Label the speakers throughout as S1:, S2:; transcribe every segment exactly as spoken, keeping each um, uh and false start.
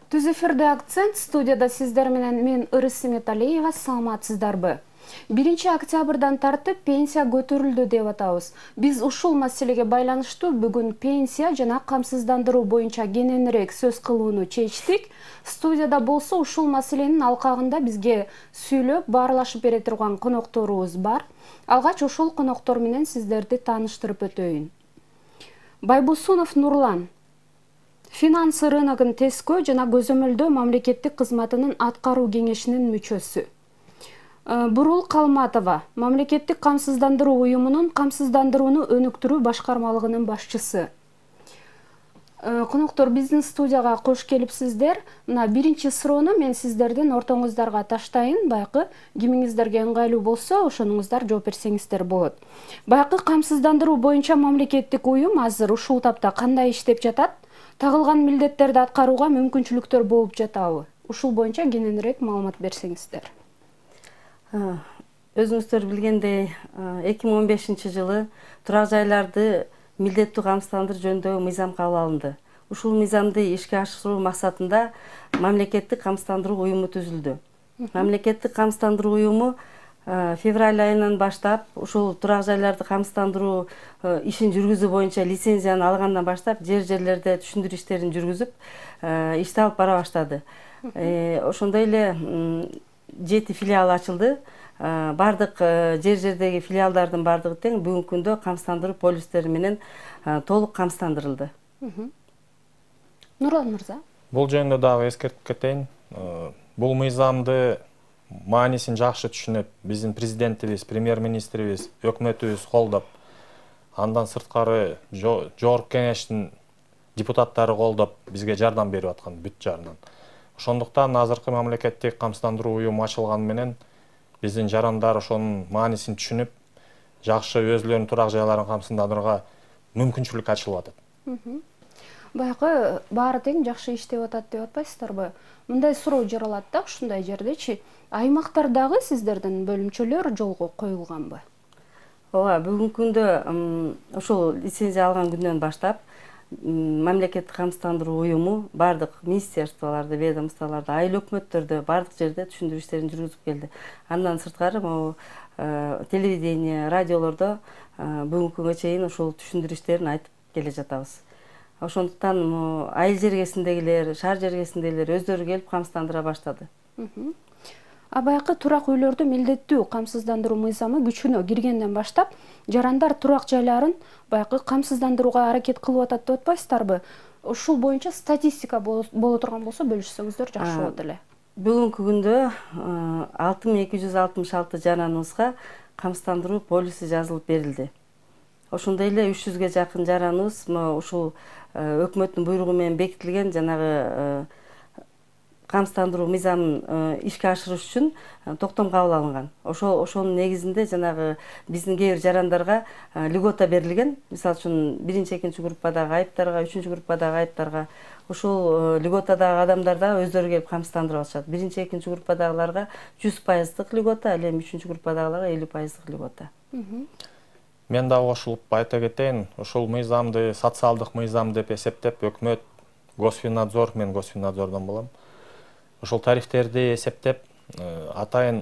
S1: Түз эфирде акцент студияда сиздер менен мен Ырыс Металиева, саламатсыздарбы? биринчи октябрдан тартып пенсия көтөрүлдү деп атабыз. Биз ушул маселеге байланыштуу бүгүн пенсия жана камсыздандыруу боюнча кененирээк сөз кылууну чечтик. Студияда болсо ушул маселенин алкагында бизге сүйлөп, баарлашып бере турган конокторубуз бар. Алгач ошол коноктор менен сиздерди тааныштырып өтөйүн. Байбосунов Нурлан, финансы рыногун тескөө жана көзөмөлдөө мамлекеттик кызматынын аткаруу кеңешинин мүчөсү. Бурул Калматова, мамлекеттик камсыздандыруу уюмунун камсыздандырууну өнүктүрүү башкармалыгынын башчысы. Коноктор, биздин студияга кош келипсиздер. Мына биринчи суроону мен сиздердин ортоңуздарга таштайын. Байкы кимиңиздерге ыңгайлуу болсо, ошонуңуздар жооп берсеңиздер болот. Байкы камсыздандыруу боюнча мамлекеттик уюм азыр ушул тапта кандай иштеп жатат? Тагылган милдеттерди аткарууга мүмкүнчүлүктөр болуп жатабы? Ушул боюнча кененирээк маалымат берсеңиздер.
S2: Өзүңүздөр билгендей, эки миң он бешинчи жылы турак жайларды милдеттүү камсыздандыруу жөнүндөгү мыйзам кабыл алынды. Ушул мыйзамды ишке ашыруу максатында мамлекеттик камсыздандыруу уюму түзүлдү. Мамлекеттик камсыздандыруу уюму февраль айынан баштап ушул турак жайларды камсыздандыруу ишин жүргүзүү боюнча лицензияны алгандан баштап жер жерлерде түшүндүрүү иштерин жүргүзүп, ишти алып бара баштады. Ошондой эле жети филиал ачылды. Бардык жер жердеги филиалдардын бардыгы тең бүгүнкү күндө камсыздандыруу полистери менен толук камсыздандырылды.
S1: Нурлан мырза.
S3: Бул жөнүндө дагы эскертип кетейин. Бул мыйзамды маанисин жакшы түшүнөт биздин президентибиз, премьер-министрибиз, өкмөтүбүз колдоп, андан сырткары жогорку кеңештин депутаттары колдоп бизге жардам берип аткан бүт жаарынан. Ошондуктан азыркы мамлекеттик камсыздандыруу уюму ачылганы менен биздин жарандар ошонун маанисин түшүнүп, жакшы өзүлөрүнүн турак жайларын камсыздандырууга мүмкүнчүлүк ачылып атат.
S1: Байкы баары тең жакшы иштеп атат деп атпайсыздарбы? Мындай суроо жаралат да ушундай жердечи. Аймактардагы сиздердин бөлүмчөлөр жолго коюлганбы?
S2: Ооба, бүгүнкү күндө ошол лицензия алган күндөн баштап мамлекеттик камсыздандыруу уюму бардык министерстволордо, ведомстволордо, айыл өкмөттөрдө бардык жерде түшүндүрүү иштерин жүргүзүп келди. Андан сырткары могу телевидение, радиолордо бүгүнкү күнгө чейин ушул түшүндүрүү иштерин айтып келе жатабыз. Ошондуктан айыл жергесиндегилер, шаар жергесиндегилер өздөрү келип камсыздандыра баштады.
S1: А байкы турак үйлөрдү милдеттүү камсыздандыруу мыйзамы күчүнө киргенден баштап, жарандар турак жайларын байкы камсыздандырууга аракет кылып атат деп атпайсыздарбы? Ушул боюнча статистика боло турган болсо бөлүшсөңүздөр жакшы болот эле.
S2: Бүгүнкү күндө алты миң эки жүз алтымыш алты жараныбызга камсыздандыруу полиси жазылып берилди. Ошондой эле үч жүзгө жакын жараныбыз ушул өкмөттүн буйругу менен бекитилген жанагы камсыздандыруу мыйзамын ишке ашырыш үчүн токтом кабыл алынган. Ошол ошонун негизинде жанагы биздин кээ бир жарандарга льгота берилген. Мисалы үчүн биринчи, экинчи группадагы айыптарга, үчүнчү группадагы айыптарга ушул льготадагы адамдар да өздөрү келип камсыздандырып атышат. Биринчи, экинчи группадагыларга жүз пайыздык льгота, ал эми үчүнчү группадагыларга элүү пайыздык льгота.
S3: Мен дагы кошулуп айта кетейин, ушул мыйзамды социалдык мыйзам деп эсептеп, өкмөт, Госфиннадзор, мен Госфиннадзордон болом. Ошол тарифтерди эсептеп, атайын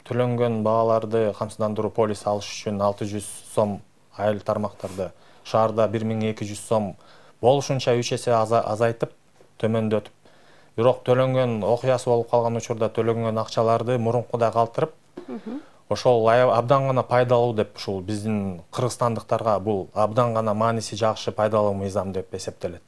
S3: төлөнгөн бааларды камсыздандыруу полиси алыш үчүн алты жүз сом айыл тармактарда, шаарда бир миң эки жүз сом болушунча үч эсе азайтып, төмөндөтүп, бирок төлөнгөн окуясы болуп калган учурда төлөнгөн акчаларды мурункудай калтырып, ошол абдан гана пайдалуу деп ушул биздин кыргызстандыктарга бул абдан гана мааниси жакшы пайдалуу мыйзам деп эсептелет.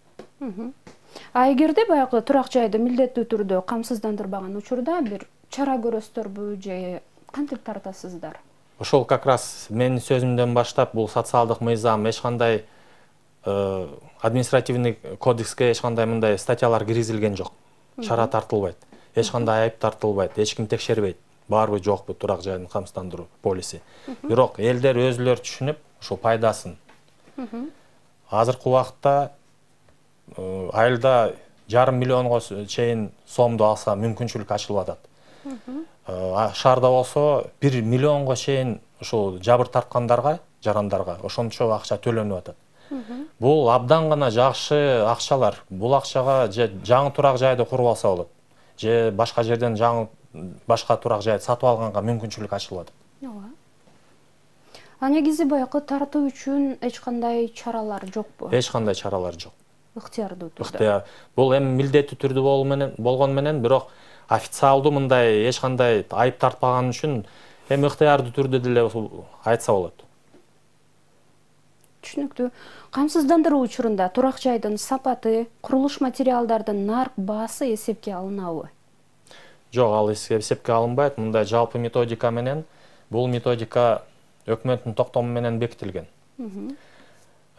S1: А эгерде баягы турак жайды милдеттүү түрдө камсыздандырбаган учурда бир чара көрөсүздөрбү же кантип тартасыздар?
S3: Ошол как раз менин сөзүмдөн баштап бул социалдык мыйзам эч кандай административный кодекске эч кандай мындай статьялар киргизилген жок. Чара тартылбайт, эч кандай айып тартылбайт, эч ким текшербейт. Барбы жокпу турак жайын камсыздандыруу полиси. Бирок элдер өзүлөрү түшүнүп, ошол пайдасын. Азыркы убакытта айылда жарым миллионго чейин сомду алса мүмкүнчүлүк ачылып атат. Шаарда болсо бир миллионго чейин ушул жабыр тарткандарга, жарандарга ошончо акча төлөнүп атат. Бул абдан гана жакшы акчалар. Бул акчага же жаңы турак жайды куруп алса болот, же башка жерден жаңы башка турак жайды сатып алганга мүмкүнчүлүк ачылат.
S1: Ооба. А негизи баягы тартуу үчүн эч кандай чаралар жокпу?
S3: Эч кандай чаралар жок.
S1: Ыктыярдуу түрдө.
S3: Ыктыяр. Бул эми милдеттүү түрдө болгон менен, бирок официалдуу мындай эч кандай айып тартпаган үчүн эми ыктыярдуу түрдө деле айтса болот.
S1: Түшүнүктүү. Камсыздандыруу учурунда турак жайдын сапаты, курулуш материалдардын нарк баасы эсепке алынабы?
S3: Жок, ал эсепке алынбайт. Мындай жалпы методика менен, бул методика өкмөттүн токтому менен бекитилген.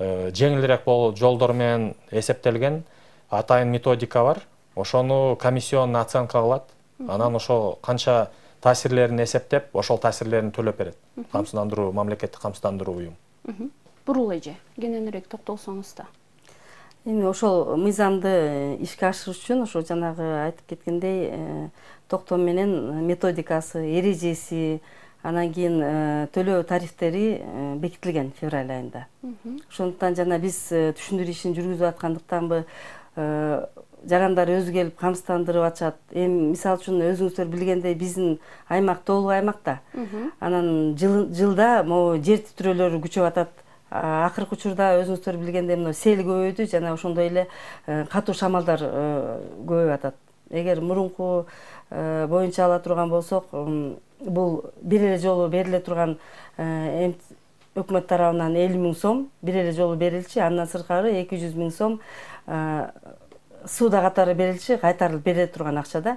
S3: Жеңилирээк болуп жолдор менен эсептелген атайын методика бар. Ошону комиссионный оценка кылат. Анан ошо канча таасирлерин эсептеп, ошол таасирлерин төлөп берет. Камсыздандыруу, мамлекеттик камсыздандыруу уюм.
S1: Бурул эже, кененирээк токтолсоңуз да.
S2: Эми ошол мыйзамды ишке ашырыш үчүн ошо жанагы айтып кеткендей токтом менен методикасы, эрежеси, анан кийин төлөө тарифтери бекитилген февраль айында. Ошондуктан жана биз түшүндүрүү ишин жүргүзүп аткандыктанбы жарандар өзү келип камсыздандырып атышат. Эми мисалы үчүн өзүңүздөр билгендей биздин аймак тоолук аймак да. Анан жылда могу жер титирөөлөрү күчөп атат. Акыркы учурда өзүңүздөр билгендей мына сел көбөйдү жана ошондой эле катуу шамалдар көбөйүп атат. Эгер мурунку боюнча ала турган болсок, бул бир эле жолу бериле турган өкмөт тарабынан элүү миң сом бир эле жолу берилчи, андан сырткары эки жүз миң сом сууда катары берилчи, кайтарылып бериле турган акча да.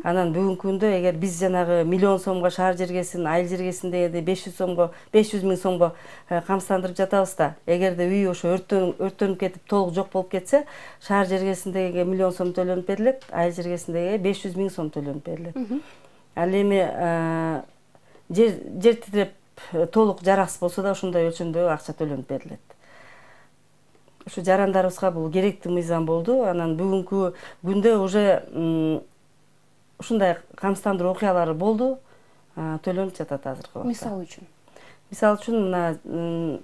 S2: Анан бүгүнкү күндө эгер биз жанагы миллион сомго шаар жергесин, айыл жергесин дегенде беш жүз сомго, беш жүз миң сомго камсыздандырып жатабыз да. Эгерде үй ошо өрттөнүп кетип толук жок болуп кетсе, шаар жергесиндеги миллион сом төлөнүп берилет, айыл жергесиндеги беш жүз миң сом төлөнүп берилет. Ал эми жер титиреп толук жараксыз болсо да ошондой өлчөмдөгү акча төлөнүп берилет. Ушу жарандарыбызга бул керектүү мыйзам болду. Анан бүгүнкү күндө уже ушундай камсыздандыруу окуялары болду, төлөнүп жатат азыркы убакта.
S1: Мисалы үчүн.
S2: Мисалы үчүн мына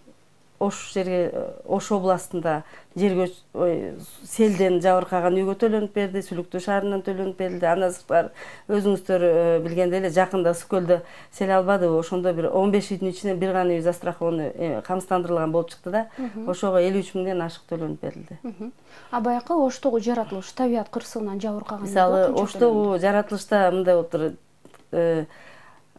S2: Ош жерге, Ош областында жер селден жабыркаган үйгө төлөнүп берди, Сүлүктүү шаарынан төлөнүп берилди. Андан сырткары өзүңүздөр билгендей эле жакында Ысык көлдө сел албадыбы? Ошондо бир он беш үйдүн ичинен бир гана үй застрахованы камсыздандырылган болуп чыкты да. Ошого элүү үч миңден ашык төлөнүп берилди.
S1: А баягы Оштогу жаратылыш табият кырсыгынан жабыркаган.
S2: Мисалы Оштогу жаратылышта мындай болуптур.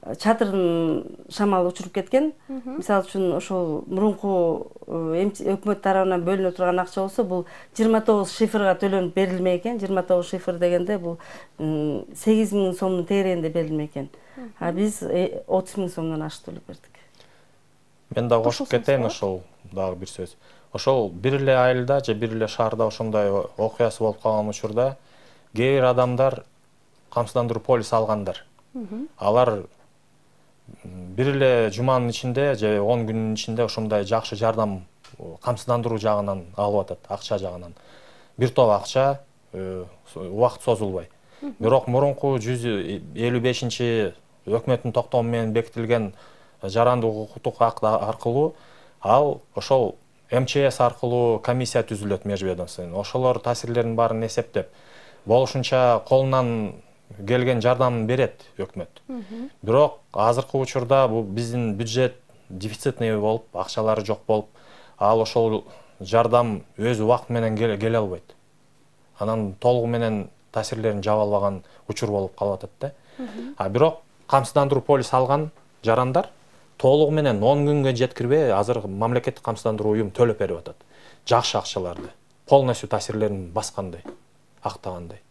S2: Чатырын шамал учуруп кеткен. Мисалы үчүн ошол мурунку өкмөт тарабынан бөлүнө турган акча болсо, бул жыйырма тогуз шифрга төлөнүп берилмей экен. жыйырма тогуз шифр дегенде бул сегиз миң сомдун тегерегинде берилмей экен. А биз отуз миң сомдон ашык төлөп бердик.
S3: Мен да кошуп кетейин ошол дагы бир сөз. Ошол бир эле айылда же бир эле шаарда ошондой окуясы болуп калган учурда кээ бир адамдар камсыздандыруу полиси алгандар. Алар бир эле жуманын ичинде же он күнүнүн ичинде ошондой жакшы жардам камсыздандыруу жагынан алып атат, акча жагынан. Бир топ акча убакыт созулбай. Бирок мурунку жүз элүү бешинчи өкмөттүн токтому менен бекитилген жарандык укуктук акт аркылуу ал ошол эм че эс аркылуу комиссия түзүлөт межведомственный. Ошолор таасирлердин баарын эсептеп, болушунча колунан келген жардамын берет өкмөт. Бирок азыркы учурда бул биздин бюджет дефицитный болуп, акчалары жок болуп, ал ошол жардам өз убакыты менен келе албайт. Анан толугу менен таасирлерин жаба албаган учур болуп калып атат да. А бирок камсыздандыруу полиси алган жарандар толугу менен он күнгө жеткирбей азыр мамлекеттик камсыздандыруу уюм төлөп берип атат. Жакшы акчаларды, полностью таасирлерин баскандай, актагандай.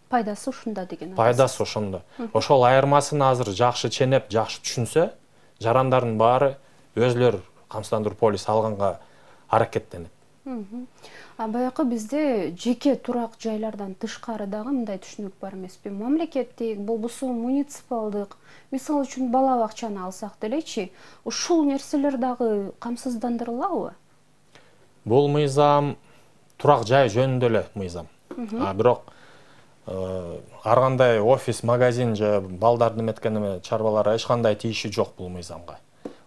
S1: Пайдасы ушунда деген.
S3: Пайдасы ошондо. Ошол айырмасын азыр жакшы ченеп, жакшы түшүнсө, жарандардын баары өзлөр камсыздандыруу полиси алганга аракеттенет.
S1: А баягы бизде жеке турак жайлардан тышкары дагы мындай түшүнүк бар эмеспи? Мамлекеттик, болбосо муниципалдык, мисалы үчүн бала бакчаны алсак делечи, ушул нерселер дагы камсыздандырылабы?
S3: Бул мыйзам турак жай жөнүндө эле мыйзам. А бирок ар кандай офис, магазин же балдарды эметкен чарбаларга эч кандай тиеши жок бул мыйзамга.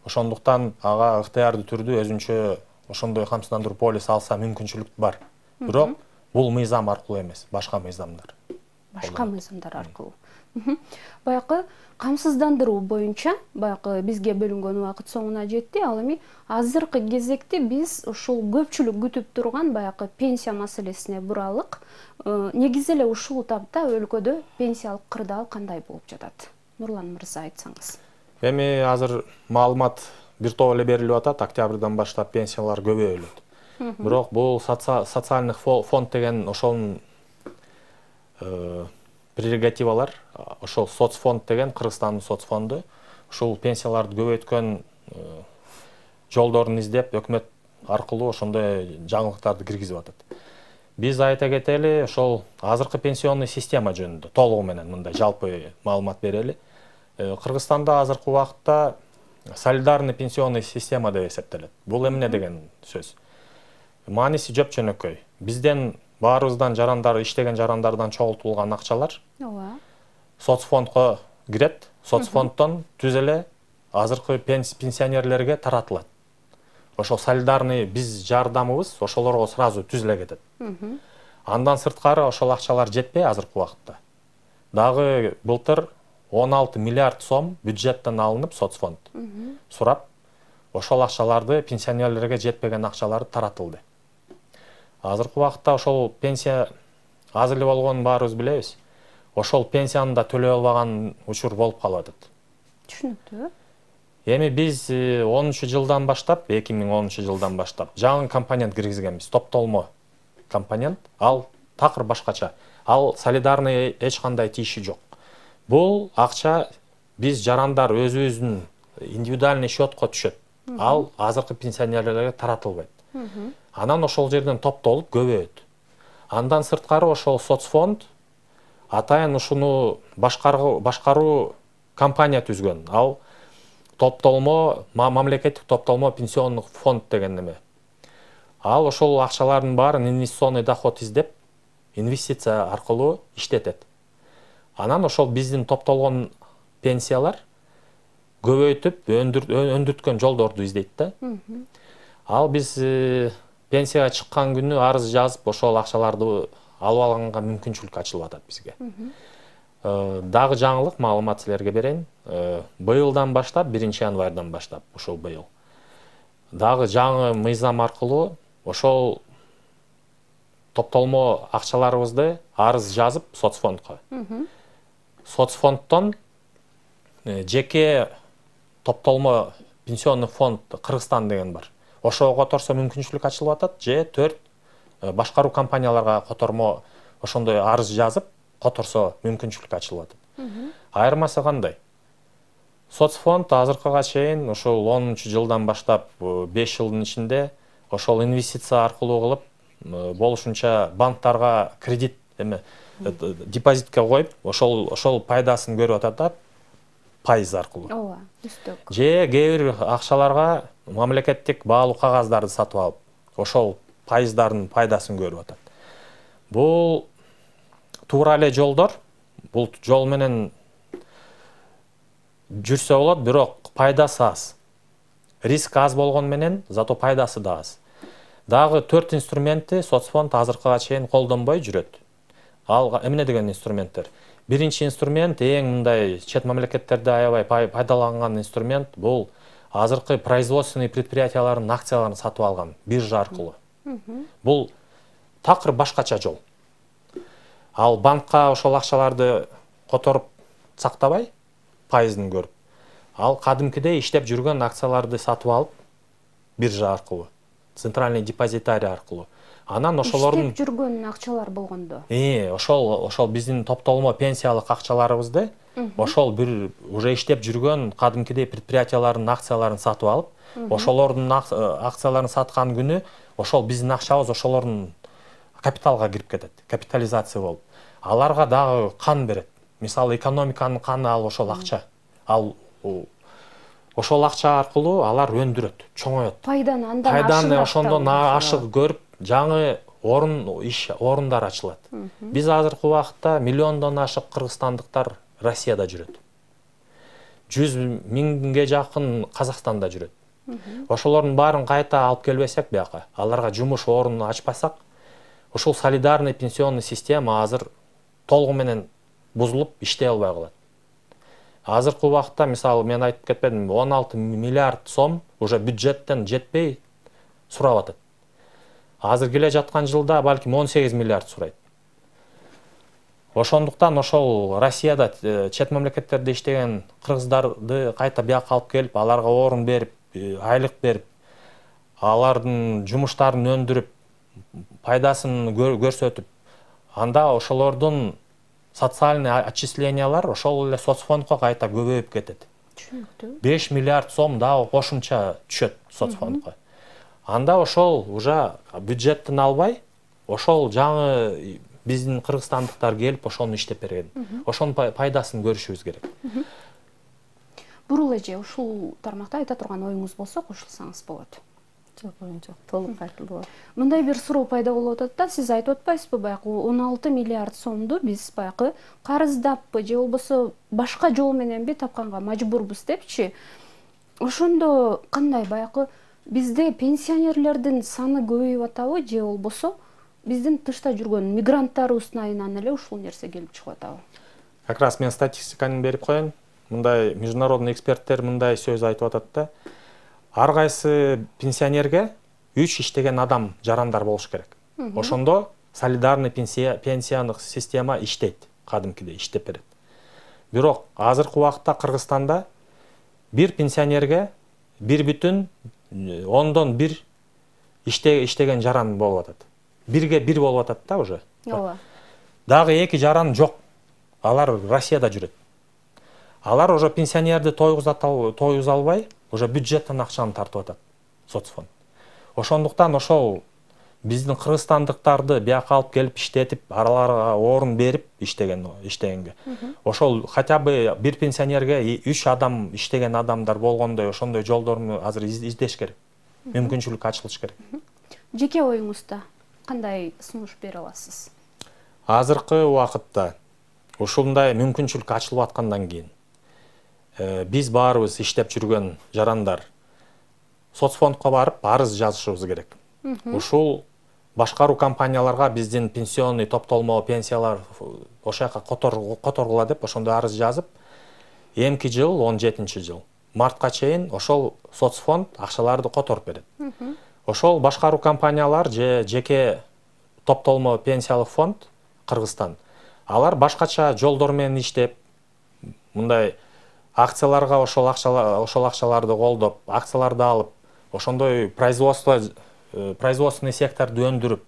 S3: Ошондуктан ага ыктыярдуу түрдө өзүнчө ошондой камсыздандыруу полис алса мүмкүнчүлүк бар. Бирок бул мыйзам аркылуу эмес, башка мыйзамдар.
S1: Башка мыйзамдар аркылуу. Баягы камсыздандыруу боюнча баягы бизге бөлүнгөн убакыт соңуна жетти. Ал эми азыркы кезекте биз ушул көпчүлүк күтүп турган баягы пенсия маселесине буралык. Негизи эле ушул тапта өлкөдө пенсиялык кырдаал кандай болуп жатат? Нурлан мырза, айтсаңыз.
S3: Эми азыр маалымат бир топ эле берилип атат. Октябрдан баштап пенсиялар көбөйөлөт. Бирок бул социальный фонд деген ошонун прерогативалар, ошол соцфонд деген Кыргызстандын соцфонду ушул пенсияларды көбөйткөн жолдорун издеп, өкмөт аркылуу ошондой жаңылыктарды киргизип атат. Биз айта кетели, ошол азыркы пенсионный система жөнүндө толугу менен мындай жалпы маалымат берели. Кыргызстанда азыркы убакытта солидарный пенсионный система деп эсептелет. Бул эмне деген сөз? Мааниси жөп-жөнөкөй. Бизден баарыбыздан жарандар, иштеген жарандардан чогултулган акчалар
S1: ооба
S3: соцфондко кирет. Соцфонддон түз эле азыркы пенсионерлерге таратылат. Ошол солидарный биз жардамыбыз ошолорго сразу түз эле кетет. Андан сырткары ошол акчалар жетпей азыркы убакытта. Дагы былтыр он алты миллиард сом бюджеттен алынып соцфонд сурап, ошол акчаларды пенсионерлерге жетпеген акчаларды таратылды. Азыркы убакытта ошол пенсия аз эле болгонун баарыбыз билебиз. Ошол пенсияны да төлөй албаган учур болуп калып атат.
S1: Түшүнүктүү.
S3: Эми биз онунчу жылдан баштап, эки миң онунчу жылдан баштап жаңы компонент киргизгенбиз, топтолмо компонент. Ал такыр башкача. Ал солидарный эч кандай тиеши жок. Бул акча биз жарандар өзүбүздүн индивидуальный счетко түшөт. Ал азыркы пенсионерлерге таратылбайт. Анан ошол жерден топтолуп көбөйөт. Андан сырткары ошол соцфонд атайын ушуну башкаруу башкаруу компания түзгөн. Ал топтолмо, мамлекеттик топтолмо пенсионный фонд деген неме. Ал ошол акчалардын баарын инвестиционный доход издеп, инвестиция аркылуу иштетет. Анан ошол биздин топтолгон пенсиялар көбөйтүп, өндүрткөн жолдорду издейт да. Ал биз пенсияга чыккан күнү арыз жазып, ошол акчаларды алып алганга мүмкүнчүлүк ачылып атат бизге. Дагы жаңылык маалымат силерге берейин. Быйылдан баштап, биринчи январдан баштап, ошол быйыл. Дагы жаңы мыйзам аркылуу ошол топтолмо акчаларыбызды арыз жазып соцфондко. Соцфонддон жеке топтолмо пенсионный фонд Кыргызстан деген бар. Ошого которсо мүмкүнчүлүк ачылып атат, же төрт башкаруу компанияларга котормо ошондой арыз жазып, которсо мүмкүнчүлүк ачылып атат. Айырмасы кандай? Соцфонд азыркыга чейин ошол онунчу жылдан баштап беш жылдын ичинде ошол инвестиция аркылуу кылып, болушунча банктарга кредит эме депозитке коюп, ошол ошол пайдасын көрүп атат да, пайыз аркылуу.
S1: Ооба, үстөк.
S3: Же кээ бир акчаларга мамлекеттик баалуу кагаздарды сатып алып, ошол пайыздардын пайдасын көрүп атат. Бул туура эле жолдор. Бул жол менен жүрсө болот, бирок пайдасы аз. Риск аз болгон менен, зато пайдасы да аз. Дагы төрт инструментти соцфонд азыркыга чейин колдонбой жүрөт. Ал эмне деген инструменттер? Биринчи инструмент, эң мындай чет мамлекеттерде аябай пайдаланган инструмент, бул азыркы производственный предприятиялардын акцияларын сатып алган биржа аркылуу. Бул такыр башкача жол. Ал банкка ошол акчаларды которуп сактабай, пайызын көрүп, ал кадимкидей иштеп жүргөн акцияларды сатып алып, биржа аркылуу, центральный депозитарий аркылуу. Анан ошолордун
S1: иштеп жүргөн акчалар болгондо.
S3: Э, ошол ошол биздин топтолмо пенсиялык акчаларыбызды ошол бир уже иштеп жүргөн кадимкидей предприятиялардын акцияларын сатып алып, ошолордун акцияларын саткан күнү ошол биздин акчабыз ошолордун капиталга кирип кетет, капитализация болуп. Аларга дагы кан берет. Мисалы, экономиканын каны ал ошол акча. Ал ошол акча аркылуу алар өндүрөт, чоңоёт.
S1: Пайданы андан
S3: Пайданы ошондон ашык көрүп, жаңы орун иш орундар ачылат. Биз азыркы убакытта миллиондон ашык кыргызстандыктар Россияда жүрөт. жүз миңге жакын Казакстанда жүрөт. Ошолордун баарын кайта алып келбесек бияка, аларга жумуш ордун ачпасак, ушул солидарный пенсионный система азыр толугу менен бузулуп иштей албай калат. Азыркы убакытта, мисалы, мен айтып кетпедимби, он алты миллиард сом уже бюджеттен жетпей сурап атат. Азыр келе жаткан жылда балким он сегиз миллиард сурайт. Ошондуктан ошол Россияда, чет мамлекеттерде иштеген кыргыздарды кайта бияка алып келип, аларга орун берип, айлык берип, алардын жумуштарын өндүрүп, пайдасын көрсөтүп, анда ошолордун социальный отчислениялар ошол эле соцфондко кайта көбөйүп кетет.
S1: Түшүнүктүү.
S3: беш миллиард сом дагы кошумча түшөт соцфондко. Анда ошол уже бюджеттен албай, ошол жаңы биздин кыргызстандыктар келип ошону иштеп берген. Ошонун пайдасын көрүшүбүз керек.
S1: Бурул эже, ушул тармакта айта турган оюңуз болсо кошулсаңыз болот.
S2: Жок, жок, толук айтылды.
S1: Мындай бир суроо пайда болуп атат да, сиз айтып атпайсызбы, баягы он алты миллиард сомду биз баягы карыздаппы же болбосо башка жол мененби тапканга мажбурбуз депчи. Ошондо кандай баягы бизде пенсионерлердин саны көбөйүп атабы же болбосо биздин тышта жүргөн мигранттарыбыздын айынан эле ушул нерсе келип чыгып атабы?
S3: Как раз мен статистиканы берип коеюн. Мындай международный эксперттер мындай сөз айтып атат да. Ар кайсы пенсионерге үч иштеген адам жарандар болуш керек. Ошондо солидарный пенсиондук система иштейт, кадимкидей иштеп берет. Бирок азыркы убакытта Кыргызстанда бир пенсионерге бир бүтүн ондон бир иштеген жаран болуп атат. Бирге бир болуп атат да уже.
S1: Ооба.
S3: Дагы эки жаран жок. Алар Россияда жүрөт. Алар уже пенсионерди тойгуза албай, уже бюджеттен акчаны тартып атат соцфонд. Ошондуктан ошол биздин кыргызстандыктарды бияка алып келип иштетип, араларга орун берип иштеген иштегенге. Ошол хотя бы бир пенсионерге үч адам иштеген адамдар болгондой ошондой жолдорду азыр издеш керек. Мүмкүнчүлүк ачылыш керек.
S1: Жеке оюңузда кандай сунуш бере аласыз?
S3: Азыркы убакытта ушундай мүмкүнчүлүк ачылып аткандан кийин биз баарыбыз иштеп жүргөн жарандар соцфондко барып арыз жазышыбыз керек. Ушул башкаруу компанияларга биздин пенсионный топтолмо пенсиялар ошол жака которгула деп ошондой арыз жазып, эмки жыл он жетинчи жыл мартка чейин ошол соцфонд акчаларды которуп берет. Ошол башкаруу компаниялар же жеке топтолмо пенсиялык фонд Кыргызстан, алар башкача жолдор менен иштеп, мындай акцияларга ошол акчалар ошол акчаларды колдоп, акцияларды алып, ошондой производство производственный секторду өндүрүп,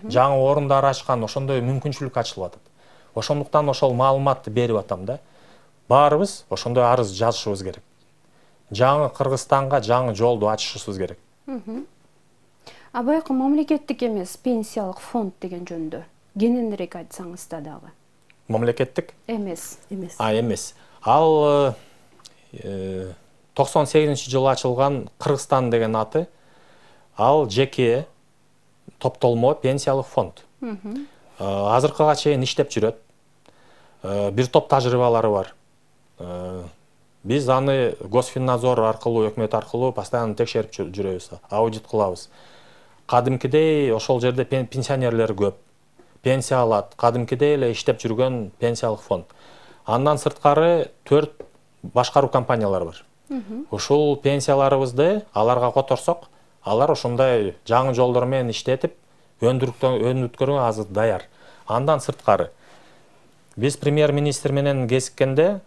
S3: жаңы орундар ачкан, ошондой мүмкүнчүлүк ачылып атат. Ошондуктан ошол маалыматты берип атам да. Баарыбыз ошондой арыз жазышыбыз керек. Жаңы Кыргызстанга жаңы жолду ачышыбыз керек.
S1: А баягы мамлекеттик эмес пенсиялык фонд деген жөнүндө кененирээк айтсаңыз да дагы.
S3: Мамлекеттик
S1: Эмес.
S2: Эмес.
S3: А, эмес. Ал токсон сегизинчи жылы ачылган Кыргызстан деген аты. Ал жеке топтолмо пенсиялык фонд. Азыркыга чейин иштеп жүрөт. Бир топ тажрыйбалары бар. Биз аны Госфиннадзор аркылуу, өкмөт аркылуу постоянно текшерип жүрөбүз, аудит кылабыз. Кадимкидей ошол жерде пенсионерлер көп. Пенсия алат, кадимкидей эле иштеп жүргөн пенсиялык фонд. Андан сырткары төрт башкаруу компаниялар бар. Ушул пенсияларыбызды аларга которсок, алар ошондой жаңы жолдор менен иштетип, өндүрүткөнгө азыр даяр. Андан сырткары биз премьер-министр менен кезиккенде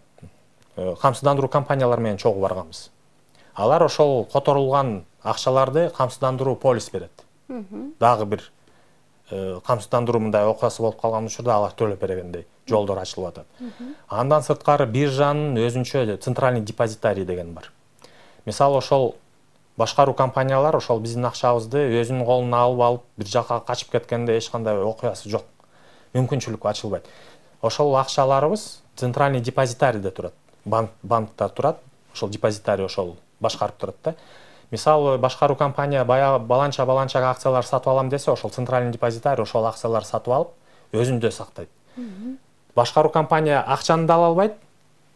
S3: камсыздандыруу компаниялар менен чогуу барганбыз. Алар ошол которулган акчаларды камсыздандыруу полис берет. Дагы бир камсыздандыруу мындай окуясы болуп калган учурда алар төлөп бергендей жолдор ачылып атат. Андан сырткары биржанын өзүнчө центральный депозитарий деген бар. Мисалы ошол башкаруу компаниялар ошол биздин акчабызды өзүнүн колуна алып алып бир жака качып кеткенде эч кандай окуясы жок. Мүмкүнчүлүк ачылбайт. Ошол акчаларыбыз центральный депозитарийде турат. Банк банктар турат. Ошол депозитарий ошол башкарып турат да. Мисалы башкаруу компания баягы баланча баланча акциялар сатып алам десе, ошол центральный депозитарий ошол акцияларды сатып алып, өзүндө сактайт. Башкаруу компания акчаны да ала албайт,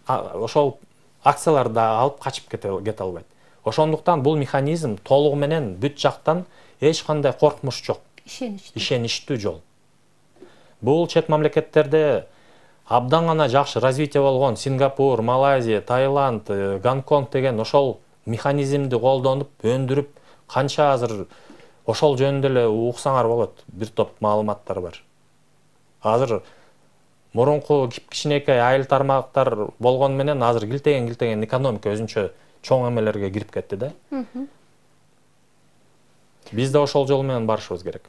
S3: ошол акцияларды да алып качып кете албайт. Ошондуктан бул механизм толугу менен бүт жактан эч кандай коркмуш жок.
S1: Ишеничтүү.
S3: Ишеничтүү жол. Бул чет мамлекеттерде абдан гана жакшы развитие болгон Сингапур, Малайзия, Таиланд, Гонконг деген ошол механизмди колдонуп, өндүрүп, канча азыр ошол жөнүндө эле уксаңар болот. Бир топ маалыматтар бар. Азыр мурунку кичинекей айыл тармактар болгон менен азыр килтеген-килтеген экономика өзүнчө чоң эмелерге кирип кетти да. Биз да ошол жол менен барышыбыз керек.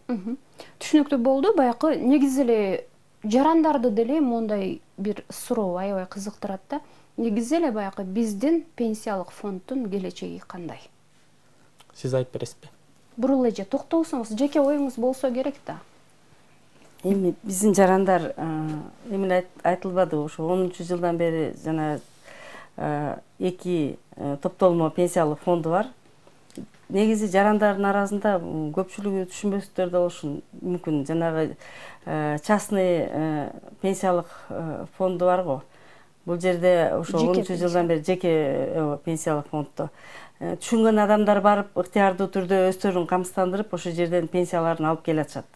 S1: Түшүнүктүү болду. Баякы негизи эле жарандарды деле мондай бир суроо аябай кызыктырат да. Негизи эле баякы биздин пенсиялык фонддун келечеги кандай?
S3: Сиз айтып бересизби?
S1: Бурул эже токтолсоңуз, жеке оюңуз болсо керек да.
S2: Эми биздин жарандар эми айтылбады, ошо онунчу жылдан бери жана эки топтолмо пенсиялык фонду бар. Негизи жарандардын арасында көпчүлүгү түшүнбөстөр да болушу мүмкүн. Жанагы частный пенсиялык фонду бар го. Бул жерде ошо онунчу жылдан бери жеке пенсиялык фонддо түшүнгөн адамдар барып ыктыярдуу түрдө өздөрүн камсыздандырып ошол жерден пенсияларын алып келатышат.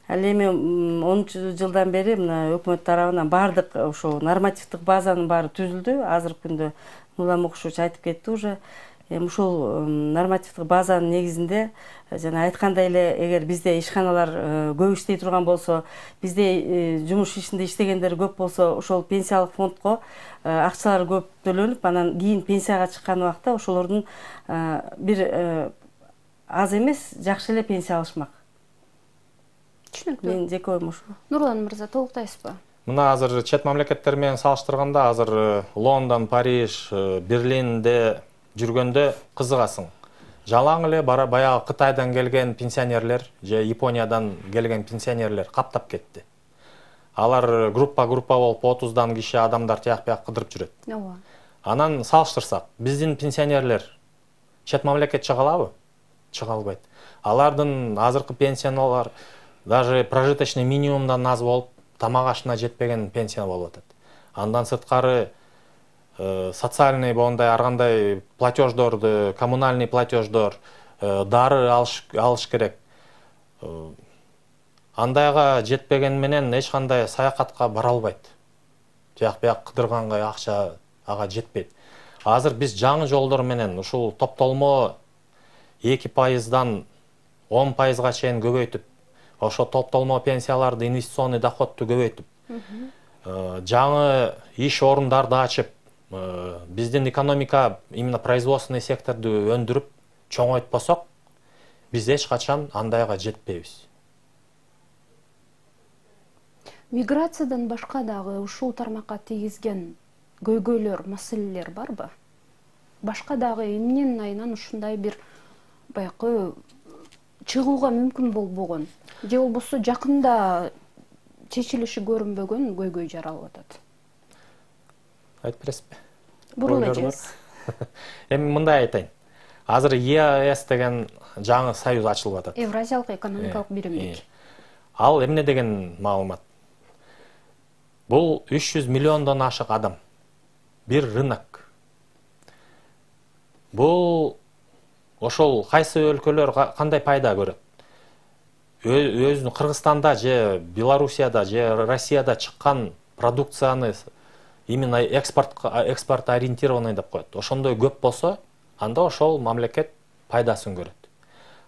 S2: Ал эми онунчу жылдан бери мына өкмөт тарабынан баардык ошо нормативдик базанын баары түзүлдү. Азыркы күндө Нурла Мукушевич айтып кетти уже. Эми ушул нормативдик базанын негизинде жана айткандай эле, эгер бизде ишканалар көп иштей турган болсо, бизде жумуш ишинде иштегендер көп болсо, ошол пенсиялык фондко акчалар көп төлөнүп, анан кийин пенсияга чыккан убакта ошолордун бир аз эмес жакшы эле пенсия алышмак.
S1: Түшүнүктүү.
S2: Мен жеке оюм ушул.
S1: Нурлан мырза, толуктайсызбы?
S3: Мына азыр чет мамлекеттер менен салыштырганда азыр Лондон, Париж, Берлинде жүргөндө кызыгасың. Жалаң эле баягы Кытайдан келген пенсионерлер же Япониядан келген пенсионерлер каптап кетти. Алар группа-группа болуп отуздан киши адамдар тияк-бияк кыдырып жүрөт.
S1: Ооба.
S3: Анан салыштырсак, биздин пенсионерлер чет мамлекет чыга алабы? Чыга албайт. Алардын азыркы пенсиялар даже прожиточный минимумдан аз болуп, тамак ашына жетпеген пенсия болуп атат. Андан сырткары социальный боундай ар кандай платеждорду, коммунальный платеждор, дары алыш керек. Андайга жетпеген менен эч кандай саякатка бара албайт. Тияк-бияк кыдырганга акча ага жетпейт. Азыр биз жаңы жолдор менен ушул топтолмо эки пайыздан он пайызга чейин көбөйтүп, ошо топтолмо пенсияларды, инвестиционный доходду көбөйтүп, жаңы иш орундарды ачып, биздин экономика, именно производственный секторду өндүрүп чоңойтпосок, биз эч качан андайга жетпейбиз.
S1: Миграциядан башка дагы ушул тармакка тийгизген көйгөйлөр, маселелер барбы? Башка дагы эмненин айынан ушундай бир баякы чыгууга мүмкүн болбогон, же болбосо жакында чечилиши көрүнбөгөн көйгөй жаралып атат?
S3: Айтып бересизби?
S1: Бурул эжеңиз.
S3: Эми мындай айтайын. Азыр Е А С деген жаңы союз ачылып атат.
S1: Евразиялык экономикалык биримдик.
S3: Ал эмне деген маалымат? Бул үч жүз миллиондон ашык адам. Бир рынок. Бул ошол кайсы өлкөлөр кандай пайда көрөт? Өзүнүн Кыргызстанда же Белоруссияда же Россияда чыккан продукцияны именно экспорт экспорт ориентированный деп коет. Ошондой көп болсо, анда ошол мамлекет пайдасын көрөт.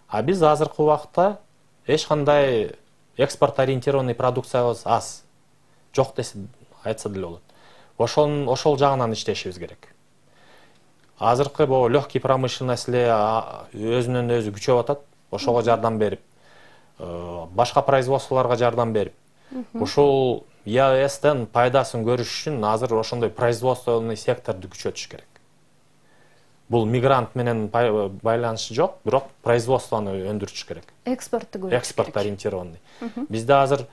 S3: А биз азыркы убакта эч кандай экспорт ориентированный продукциябыз аз. Жок десе айтса деле болот. Ошол ошол жагынан иштешибиз керек. Азыркы бул легкий промышленность эле өзүнөн өзү күчөп атат. Ошого жардам берип, башка производстволорго жардам берип, ушул Е А Стен пайдасын көрүш үчүн азыр ошондой производственный секторду күчөтүш керек. Бул мигрант менен байланышы жок, бирок производствону өндүрүш керек.
S1: Экспортты көрүш керек.
S3: Экспорт ориентированный. Бизде азыр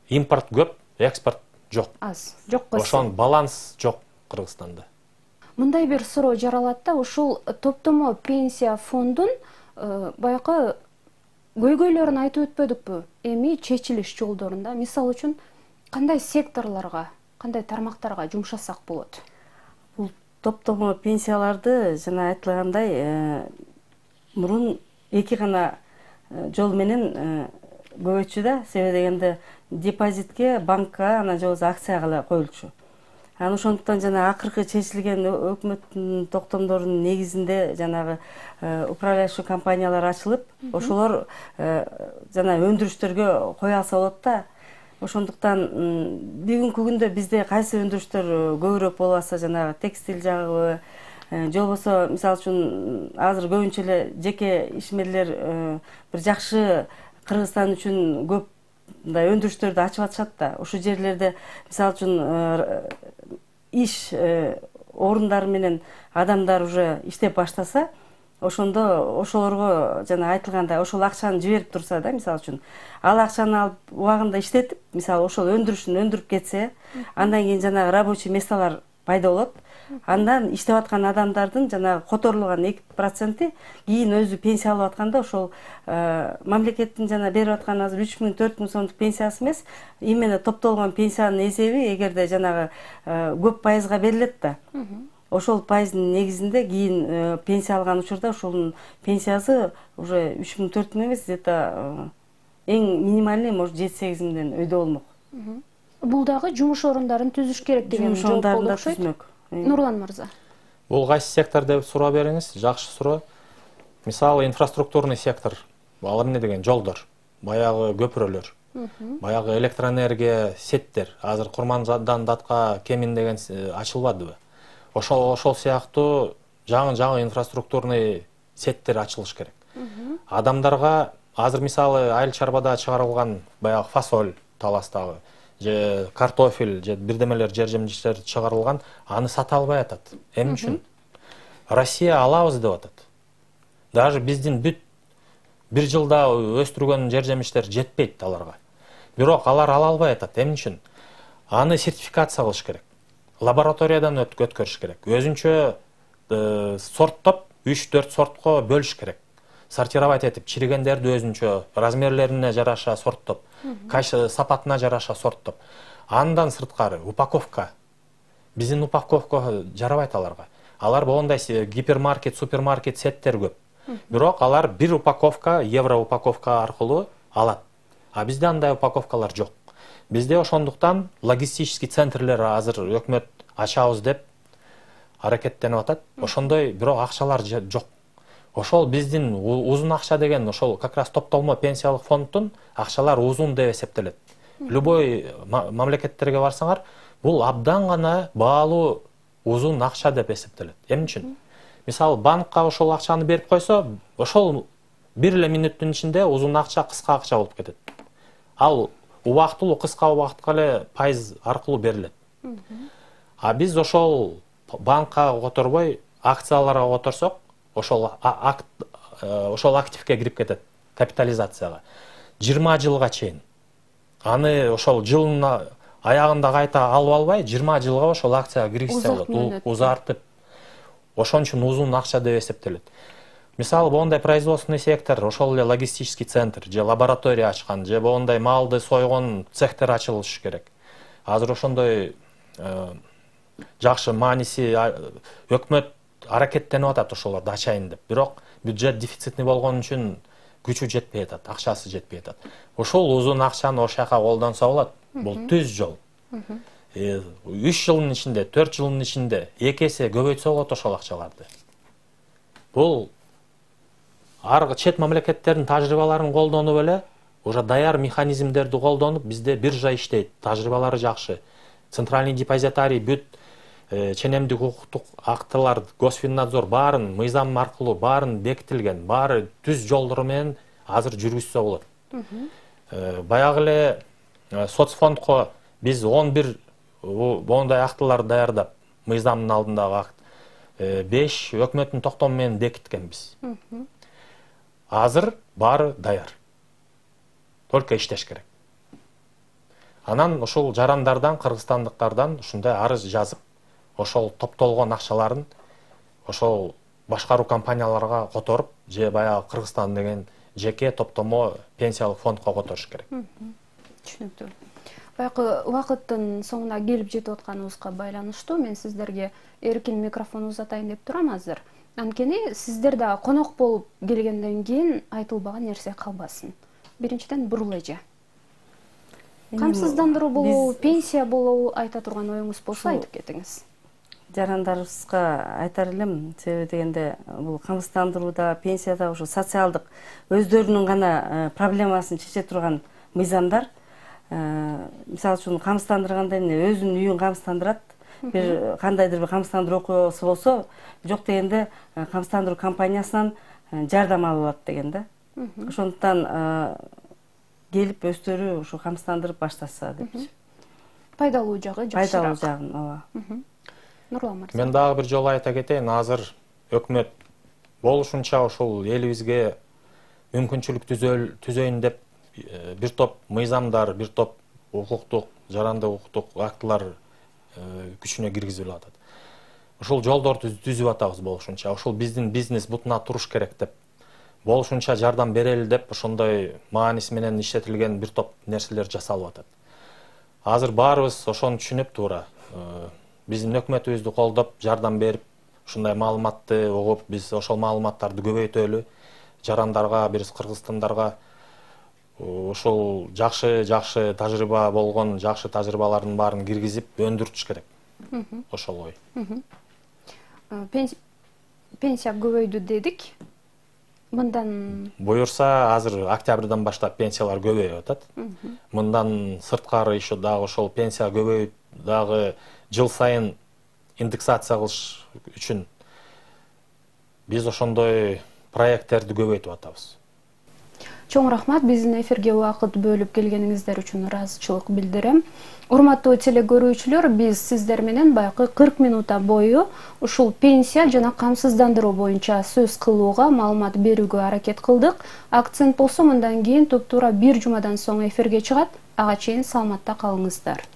S3: импорт көп, экспорт жок.
S1: Аз. Жок койсо.
S3: Ошон баланс жок Кыргызстанда.
S1: Мындай бир суроо жаралат да, ушул топтомо пенсия фондун баякы көйгөйлөрүн айтып өтпөдүкпү? Эми чечилиш жолдорунда, мисалы үчүн, кандай секторлорго, кандай тармактарга жумшасак болот?
S2: Бул топтомо пенсияларды жана айтылгандай мурун эки гана жол менен көбөйтчү да. Себеби дегенде депозитке, банкка, анан же болбосо акцияга эле коюлчу. Анан ошондуктан жана акыркы чечилген өкмөттүн токтомдорунун негизинде жанагы управляющий компаниялар ачылып, ошолор жана өндүрүштөргө кое алса болот да. Ошондуктан бүгүнкү күндө бизде кайсы өндүрүштөр көбүрөөк болуп атса, жанагы текстиль жагыбы, же болбосо мисалы үчүн азыр көбүнчө эле жеке ишмерлер бир жакшы Кыргызстан үчүн көп мындай өндүрүштөрдү ачып атышат да. Ошол жерлерде мисалы үчүн иш орундары менен адамдар уже иштеп баштаса, ошондо ошолорго жана айтылгандай ошол акчаны жиберип турса да, мисалы үчүн ал акчаны алып убагында иштетип, мисалы ошол өндүрүшүн өндүрүп кетсе, андан кийин жанагы рабочий месталар пайда болот. Андан иштеп аткан адамдардын жанагы которулган эки проценти кийин өзү пенсия алып атканда ошол мамлекеттин жана берип аткан азыр үч миң төрт миң сомдук пенсиясы эмес, именно топтолгон пенсиянын эсеби эгерде жанагы көп пайызга берилет да. Ошол пайыздын негизинде кийин пенсия алган учурда ошонун пенсиясы уже үч миң төрт миң эмес, где-то эң минимальный может жети сегиз миңден өйдө болмок.
S1: Бул дагы жумуш орундарын түзүш керек деген жооп болду окшойт. Нурлан мырза.
S3: Бул кайсы сектор деп суроо бериңиз, жакшы суроо. Мисалы инфраструктурный сектор, ал эмне деген жолдор, баягы көпүрөлөр, баягы электроэнергия сеттер, азыр Курмандан Датка Кемин деген ачылбадыбы? Ошол ошол сыяктуу жаңы-жаңы инфраструктурный сеттер ачылыш керек. Адамдарга азыр мисалы айыл чарбада чыгарылган баягы фасоль таластагы же картофель же бирдемелер жер жемиштер чыгарылган, аны сата албай атат. Эмне үчүн? Россия алабыз деп атат. Даже биздин бүт бир жылда өстүргөн жер жемиштер жетпейт аларга. Бирок алар ала албай атат. Эмне үчүн? Аны сертификация кылыш керек. Лабораториядан өткөрүш керек. Өзүнчө сорттоп үч төрт сортко бөлүш керек. Сортировать этип, чиригендерди өзүнчө размерлерине жараша сорттоп, кайсы сапатына жараша сорттоп. Андан сырткары упаковка. Биздин упаковка жарабайт аларга. Алар болгондой гипермаркет, супермаркет сеттер көп. Бирок алар бир упаковка, евро упаковка аркылуу алат. А бизде андай упаковкалар жок. Бизде ошондуктан логистический центрлер азыр өкмөт ачабыз деп аракеттенип атат. Ошондой бирок акчалар жок. Ошол биздин узун акча деген ошол как раз топтолмо пенсиялык фонддун акчалар узун деп эсептелет. Любой мамлекеттерге барсаңар, бул абдан гана баалуу узун акча деп эсептелет. Эмне үчүн? Мисалы банкка ошол акчаны берип койсо, ошол бир эле мүнөттүн ичинде узун акча кыска акча болуп кетет. Ал убактылуу кыска убакытка эле пайыз аркылуу берилет. А биз ошол банкка которбой акцияларга которсок, ошол акт ошол активге кирип кетет, капитализацияга. жыйырма жылга чейин. Аны ошол жылдын аягында кайта алып албай, жыйырма жылга ошол акцияга киргизсе болот, узартып. Ошон үчүн узун акча деп эсептелет. Мисалы болгондой производственный сектор, ошол эле логистический центр, же лаборатория ачкан, же болгондой малды сойгон цехтер ачылышы керек. Азыр ошондой жакшы мааниси өкмөт аракеттенип атат ошолорду ачайын деп. Бирок бюджет дефицитный болгон үчүн күчү жетпей атат, акчасы жетпей атат. Ошол узун акчаны ошол жака колдонсо болот. Бул түз жол. үч жылдын ичинде, төрт жылдын ичинде эки эсе көбөйтсө болот ошол акчаларды. Бул аркы чет мамлекеттердин тажрыйбаларын колдонуп эле, уже даяр механизмдерди колдонуп, бизде биржа иштейт, тажрыйбалары жакшы. Центральный депозитарий бүт ченемдик укуктук актылар, Госфиннадзор баарын мыйзам аркылуу баарын бекитилген, баары түз жолдору менен азыр жүргүзсө болот. Баягы эле соцфондко биз он бир моундай актыларды даярдап, мыйзамдын алдындагы акт, беш өкмөттүн токтому менен бекиткенбиз. Азыр баары даяр. Только иштеш керек. Анан ошол жарандардан, кыргызстандыктардан ушундай арыз жазып, ошол топтолгон акчаларын ошол башкаруу компанияларга которуп, же баягы Кыргызстан деген жеке топтомо пенсиялык фондко которуш керек.
S1: Түшүнүктүү. Баягы убакыттын соңуна келип жетип атканыбызга байланыштуу мен сиздерге эркин микрофон узатайын деп турам азыр. Анткени сиздер да конок болуп келгенден кийин айтылбаган нерсе калбасын. Биринчиден бурул эже. Камсыздандыруу болобу, пенсия болобу айта турган оюңуз болсо айтып кетиңиз.
S2: Жарандарыбызга айтар элем, себеби дегенде бул камсыздандырууда, пенсияда ушу социалдык өздөрүнүн гана проблемасын чече турган мыйзамдар. Мисалы үчүн камсыздандырганда эмне өзүнүн үйүн камсыздандырат, бир кандайдыр бир камсыздандыруу окуясы болсо, жок дегенде камсыздандыруу компаниясынан жардам алып алат деген да. Ошондуктан келип өздөрү ушу камсыздандырып баштаса депчи.
S1: Пайдалуу жагы жакшыраак.
S2: Пайдалуу жагын, ооба.
S1: Нурлан мырза.
S3: Мен дагы бир жолу айта кетейин, азыр өкмөт болушунча ушул элибизге мүмкүнчүлүк түзөйүн деп бир топ мыйзамдар, бир топ укуктук, жарандык укуктук актылар күчүнө киргизилип атат. Ушул жолдорду түзүп атабыз болушунча. Ушул биздин бизнес бутуна туруш керек деп, болушунча жардам берели деп ошондой мааниси менен иштетилген бир топ нерселер жасалып атат. Азыр баарыбыз ошону түшүнүп туура. Биздин өкмөтүбүздү колдоп, жардам берип, ушундай маалыматты угуп, биз ошол маалыматтарды көбөйтөлү, жарандарга, биз кыргызстандарга ушул жакшы жакшы тажрыйба болгон, жакшы тажрыйбалардын баарын киргизип өндүртүш керек. Ошол ой.
S1: Пенсия көбөйдү дедик. Мындан
S3: буюрса, азыр октябрдан баштап пенсиялар көбөйүп атат. Мындан сырткары еще дагы ошол пенсия көбөйүп, дагы жыл сайын индексация кылыш үчүн биз ошондой проекттерди көбөйтүп атабыз.
S1: Чоң рахмат, биздин эфирге убакыт бөлүп келгениңиздер үчүн ыраазычылык билдирем. Урматтуу телекөрүүчүлөр, биз сиздер менен баягы кырк минутта бою ушул пенсия жана камсыздандыруу боюнча сөз кылууга, маалымат берүүгө аракет кылдык. Акцент болсо мындан кийин туп-туура бир жумадан соң эфирге чыгат. Ага чейин саламатта калыңыздар.